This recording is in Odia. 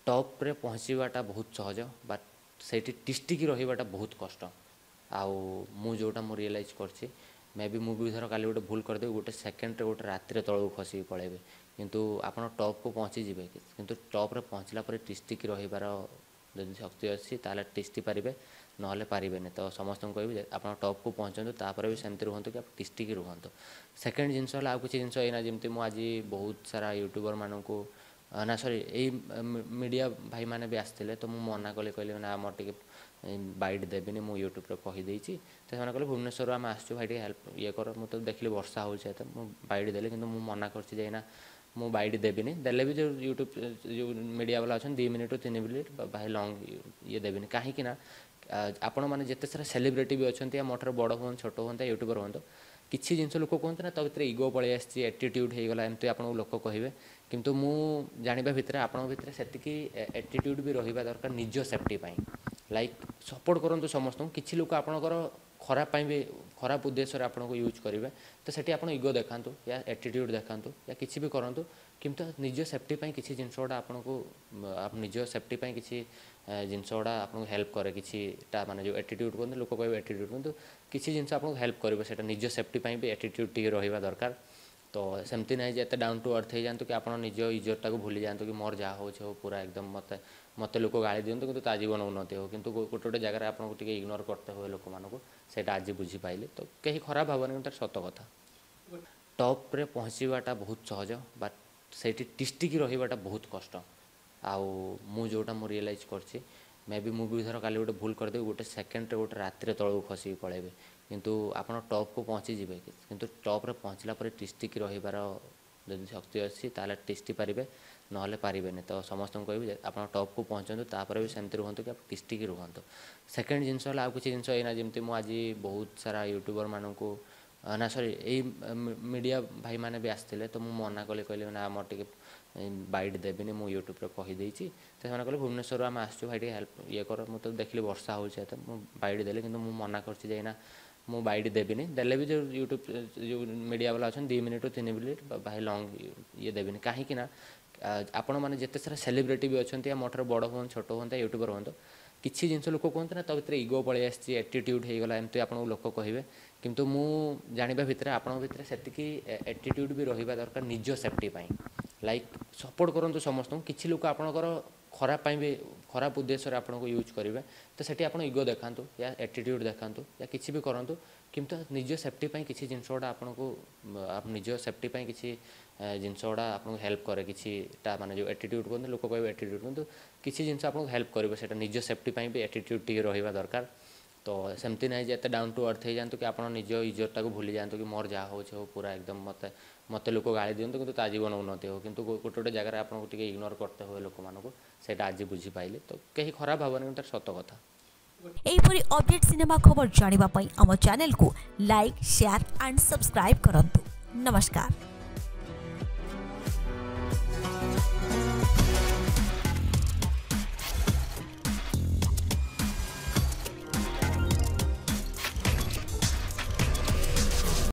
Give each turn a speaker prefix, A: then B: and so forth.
A: ଟପ୍ରେ ପହଞ୍ଚିବାଟା ବହୁତ ସହଜ, ବଟ୍ ସେଇଠି ତିଷ୍ଠିକି ରହିବାଟା ବହୁତ କଷ୍ଟ। ଆଉ ମୁଁ ଯେଉଁଟା ମୁଁ ରିଏଲାଇଜ୍ କରିଛି, ମେ ବି ମୁଁ ବି ଧର କାଲି ଗୋଟେ ଭୁଲ କରିଦେବି, ଗୋଟେ ସେକେଣ୍ଡରେ ଗୋଟେ ରାତିରେ ତଳକୁ ଖସିକି ପଳେଇବେ। କିନ୍ତୁ ଆପଣ ଟପ୍କୁ ପହଞ୍ଚିଯିବେ, କିନ୍ତୁ ଟପ୍ରେ ପହଞ୍ଚିଲା ପରେ ତିଷ୍ଠିକି ରହିବାର ଯଦି ଶକ୍ତି ଅଛି ତାହେଲେ ତିଷ୍ଠି ପାରିବେ, ନହେଲେ ପାରିବେନି। ତ ସମସ୍ତଙ୍କୁ କହିବି ଯେ ଆପଣ ଟପ୍କୁ ପହଞ୍ଚନ୍ତୁ, ତାପରେ ବି ସେମିତି ରୁହନ୍ତୁ କି ଆପଣ ତିଷ୍ଠିକି ରୁହନ୍ତୁ। ସେକେଣ୍ଡ ଜିନିଷ ହେଲା ଆଉ କିଛି ଜିନିଷ ଏଇନା ଯେମିତି ମୁଁ ଆଜି ବହୁତ ସାରା ୟୁଟ୍ୟୁବରମାନଙ୍କୁ ନା ସରି ଏଇ ମିଡ଼ିଆ ଭାଇମାନେ ବି ଆସିଥିଲେ, ତ ମୁଁ ମନା କଲି, କହିଲି ନା ମୋର ଟିକେ ବାଇଟ୍ ଦେବିନି, ମୁଁ ୟୁଟ୍ୟୁବରେ କହିଦେଇଛି। ତ ସେମାନେ କହିଲେ ଭୁବନେଶ୍ୱରରୁ ଆମେ ଆସିଛୁ ଭାଇ, ଟିକେ ହେଲ୍ପ ଇଏ କର। ମୁଁ ତ ଦେଖିଲି ବର୍ଷା ହେଉଛି ଏତେ, ମୁଁ ବାଇଟ୍ ଦେଲି, କିନ୍ତୁ ମୁଁ ମନା କରିଛି ଯେ ଏଇନା ମୁଁ ବାଇଟ୍ ଦେବିନି। ଦେଲେ ବି ଯେଉଁ ୟୁଟ୍ୟୁବ୍ ଯେଉଁ ମିଡ଼ିଆ ବାଲା ଅଛନ୍ତି 2 ମିନିଟ୍ରୁ 3 ମିନିଟ୍ ଭାଇ ଲଙ୍ଗ୍ ଇଏ ଦେବିନି। କାହିଁକି ନା ଆପଣମାନେ ଯେତେ ସାରା ସେଲିବ୍ରିଟି ବି ଅଛନ୍ତି, ମୋ ଠାରୁ ବଡ଼ ହୁଅନ୍ତୁ ଛୋଟ ହୁଅନ୍ତୁ ୟୁଟ୍ୟୁବର ହୁଅନ୍ତୁ, କିଛି ଜିନିଷ ଲୋକ କୁହନ୍ତି ନା ତା ଭିତରେ ଇଗୋ ପଳେଇ ଆସିଛି, ଆଟିଟ୍ୟୁଡ଼୍ ହେଇଗଲା, ଏମିତି ଆପଣଙ୍କୁ ଲୋକ କହିବେ। କିନ୍ତୁ ମୁଁ ଜାଣିବା ଭିତରେ ଆପଣଙ୍କ ଭିତରେ ସେତିକି ଆଟିଟ୍ୟୁଡ଼୍ ବି ରହିବା ଦରକାର ନିଜ ସେଫ୍ଟି ପାଇଁ। ଲାଇକ୍ ସପୋର୍ଟ କରନ୍ତୁ ସମସ୍ତଙ୍କୁ। କିଛି ଲୋକ ଆପଣଙ୍କର ଖରାପ ପାଇଁ ବି ଖରାପ ଉଦ୍ଦେଶ୍ୟରେ ଆପଣଙ୍କୁ ୟୁଜ୍ କରିବେ, ତ ସେଠି ଆପଣ ଇଗୋ ଦେଖାନ୍ତୁ ୟା ଆଟିଟ୍ୟୁଡ଼୍ ଦେଖାନ୍ତୁ ୟା କିଛି ବି କରନ୍ତୁ, କିନ୍ତୁ ନିଜ ସେଫ୍ଟି ପାଇଁ କିଛି ଜିନିଷ ଗୁଡ଼ା ଆପଣଙ୍କୁ ନିଜ ସେଫ୍ଟି ପାଇଁ କିଛି ଜିନିଷ ଗୁଡ଼ା ଆପଣଙ୍କୁ ହେଲ୍ପ କରେ। କିଛିଟା ମାନେ ଯେଉଁ ଆଟିଟ୍ୟୁଡ଼୍ କୁହନ୍ତି, ଲୋକ କହିବେ ଆଟିଟ୍ୟୁଡ଼୍, କିନ୍ତୁ କିଛି ଜିନିଷ ଆପଣଙ୍କୁ ହେଲ୍ପ କରିବ, ସେଇଟା ନିଜ ସେଫ୍ଟି ପାଇଁ ବି ଆଟିଟ୍ୟୁଡ଼୍ ଟିକେ ରହିବା ଦରକାର। ତ ସେମିତି ନାହିଁ ଯେ ଏତେ ଡାଉନ୍ ଟୁ ଅର୍ଥ ହେଇଯାଆନ୍ତୁ କି ଆପଣ ନିଜ ଇଜ୍ଜତଟାକୁ ଭୁଲି ଯାଆନ୍ତୁ କି ମୋର ଯାହା ହେଉଛି ହଉ, ପୁରା ଏକଦମ ମୋତେ ମୋତେ ଲୋକ ଗାଳି ଦିଅନ୍ତୁ କିନ୍ତୁ ତା ଜୀବନ ଉନ୍ନତି ହଉ। କିନ୍ତୁ ଗୋଟେ ଗୋଟେ ଜାଗାରେ ଆପଣଙ୍କୁ ଟିକେ ଇଗ୍ନୋର କରତେ ହୁଏ ଲୋକମାନଙ୍କୁ, ସେଇଟା ଆଜି ବୁଝିପାଇଲି। ତ କେହି ଖରାପ ଭାବନି, କିନ୍ତୁ ସତ କଥା। ଟପ୍ରେ ପହଞ୍ଚିବାଟା ବହୁତ ସହଜ, ବଟ୍ ସେଇଠି ତିଷ୍ଠିକି ରହିବାଟା ବହୁତ କଷ୍ଟ। ଆଉ ମୁଁ ଯେଉଁଟା ମୁଁ ରିଏଲାଇଜ୍ କରିଛି, ମେ ବି ମୁଁ ବି ଧର କାଲି ଗୋଟେ ଭୁଲ କରିଦେବି, ଗୋଟେ ସେକେଣ୍ଡରେ ଗୋଟେ ରାତିରେ ତଳକୁ ଖସିକି ପଳେଇବେ। କିନ୍ତୁ ଆପଣ ଟପ୍କୁ ପହଞ୍ଚିଯିବେ, କିନ୍ତୁ ଟପ୍ରେ ପହଞ୍ଚିଲା ପରେ ତିଷ୍ଠିକି ରହିବାର ଯଦି ଶକ୍ତି ଅଛି ତାହେଲେ ତିଷ୍ଠି ପାରିବେ, ନହେଲେ ପାରିବେନି। ତ ସମସ୍ତଙ୍କୁ କହିବି ଯେ ଆପଣ ଟପ୍କୁ ପହଞ୍ଚନ୍ତୁ, ତାପରେ ବି ସେମିତି ରୁହନ୍ତୁ କି ଆପଣ ତିଷ୍ଠିକି ରୁହନ୍ତୁ। ସେକେଣ୍ଡ ଜିନିଷ ହେଲା ଆଉ କିଛି ଜିନିଷ ଏଇନା ଯେମିତି ମୁଁ ଆଜି ବହୁତ ସାରା ୟୁଟ୍ୟୁବରମାନଙ୍କୁ ନା ସରି ଏଇ ମିଡ଼ିଆ ଭାଇମାନେ ବି ଆସିଥିଲେ, ତ ମୁଁ ମନା କଲି, କହିଲି ନା ମୋର ଟିକେ ବାଇଟ୍ ଦେବିନି, ମୁଁ ୟୁଟ୍ୟୁବରେ କହିଦେଇଛି। ତ ସେମାନେ କହିଲେ ଭୁବନେଶ୍ୱରରୁ ଆମେ ଆସିଛୁ ଭାଇ, ଟିକେ ହେଲ୍ପ ଇଏ କର। ମୁଁ ତ ଦେଖିଲି ବର୍ଷା ହେଉଛି ଏତେ, ମୁଁ ବାଇଟ୍ ଦେଲି, କିନ୍ତୁ ମୁଁ ମନା କରିଛି ଯେ ଏଇନା ମୁଁ ବାଇଟ୍ ଦେବିନି। ଦେଲେ ବି ଯେଉଁ ୟୁଟ୍ୟୁବ୍ ଯେଉଁ ମିଡ଼ିଆ ବାଲା ଅଛନ୍ତି 2 ମିନିଟ୍ରୁ 3 ମିନିଟ୍ ଭାଇ ଲଙ୍ଗ୍ ଇଏ ଦେବିନି। କାହିଁକି ନା ଆପଣମାନେ ଯେତେ ସାରା ସେଲିବ୍ରିଟି ବି ଅଛନ୍ତି, ମୋ ଠାରୁ ବଡ଼ ହୁଅନ୍ତୁ ଛୋଟ ହୁଅନ୍ତୁ ୟୁଟ୍ୟୁବର ହୁଅନ୍ତୁ, କିଛି ଜିନିଷ ଲୋକ କୁହନ୍ତି ନା ତା ଭିତରେ ଇଗୋ ପଳେଇ ଆସିଛି, ଆଟିଟ୍ୟୁଡ଼୍ ହେଇଗଲା, ଏମିତି ଆପଣଙ୍କୁ ଲୋକ କହିବେ। କିନ୍ତୁ ମୁଁ ଜାଣିବା ଭିତରେ ଆପଣଙ୍କ ଭିତରେ ସେତିକି ଆଟିଟ୍ୟୁଡ଼୍ ବି ରହିବା ଦରକାର ନିଜ ସେଫ୍ଟି ପାଇଁ। ଲାଇକ୍ ସପୋର୍ଟ କରନ୍ତୁ ସମସ୍ତଙ୍କୁ। କିଛି ଲୋକ ଆପଣଙ୍କର ଖରାପ ପାଇଁ ବି ଖରାପ ଉଦ୍ଦେଶ୍ୟରେ ଆପଣଙ୍କୁ ୟୁଜ୍ କରିବେ, ତ ସେଠି ଆପଣ ଇଗୋ ଦେଖାନ୍ତୁ ୟା ଆଟିଟ୍ୟୁଡ଼୍ ଦେଖାନ୍ତୁ ୟା କିଛି ବି କରନ୍ତୁ, କିନ୍ତୁ ନିଜ ସେଫ୍ଟି ପାଇଁ କିଛି ଜିନିଷ ଗୁଡ଼ା ଆପଣଙ୍କୁ ନିଜ ସେଫ୍ଟି ପାଇଁ କିଛି ଜିନିଷ ଗୁଡ଼ା ଆପଣଙ୍କୁ ହେଲ୍ପ କରେ। କିଛିଟା ମାନେ ଯେଉଁ ଆଟିଟ୍ୟୁଡ଼୍ କୁହନ୍ତି, ଲୋକ କହିବେ ଆଟିଟ୍ୟୁଡ଼୍, କିନ୍ତୁ କିଛି ଜିନିଷ ଆପଣଙ୍କୁ ହେଲ୍ପ କରିବ, ସେଇଟା ନିଜ ସେଫ୍ଟି ପାଇଁ ବି ଆଟିଟ୍ୟୁଡ଼୍ ଟିକେ ରହିବା ଦରକାର। ତ ସେମିତି ନାହିଁ ଯେ ଏତେ ଡାଉନ୍ ଟୁ ଅର୍ଥ ହେଇଯାଆନ୍ତୁ କି ଆପଣ ନିଜ ଇଜ୍ଜତଟାକୁ ଭୁଲି ଯାଆନ୍ତୁ କି ମୋର ଯାହା ହେଉଛି ହଉ, ପୁରା ଏକଦମ ମୋତେ ମୋତେ ଲୋକ ଗାଳି ଦିଅନ୍ତୁ କିନ୍ତୁ ତା ଜୀବନ ଉନ୍ନତି ହଉ। କିନ୍ତୁ ଗୋଟେ ଗୋଟେ ଜାଗାରେ ଆପଣଙ୍କୁ ଟିକେ ଇଗ୍ନୋର କରତେ ହୁଏ ଲୋକମାନଙ୍କୁ, ସେଇଟା ଆଜି ବୁଝିପାଇଲି। ତ କେହି ଖରାପ ଭାବନି, କିନ୍ତୁ ସତ କଥା।
B: ଏହିପରି ଅପଡେଟ୍ ସିନେମା ଖବର ଜାଣିବା ପାଇଁ ଆମ ଚ୍ୟାନେଲକୁ ଲାଇକ୍, ସେୟାର ଆଣ୍ଡ ସବସ୍କ୍ରାଇବ୍ କରନ୍ତୁ। ନମସ୍କାର।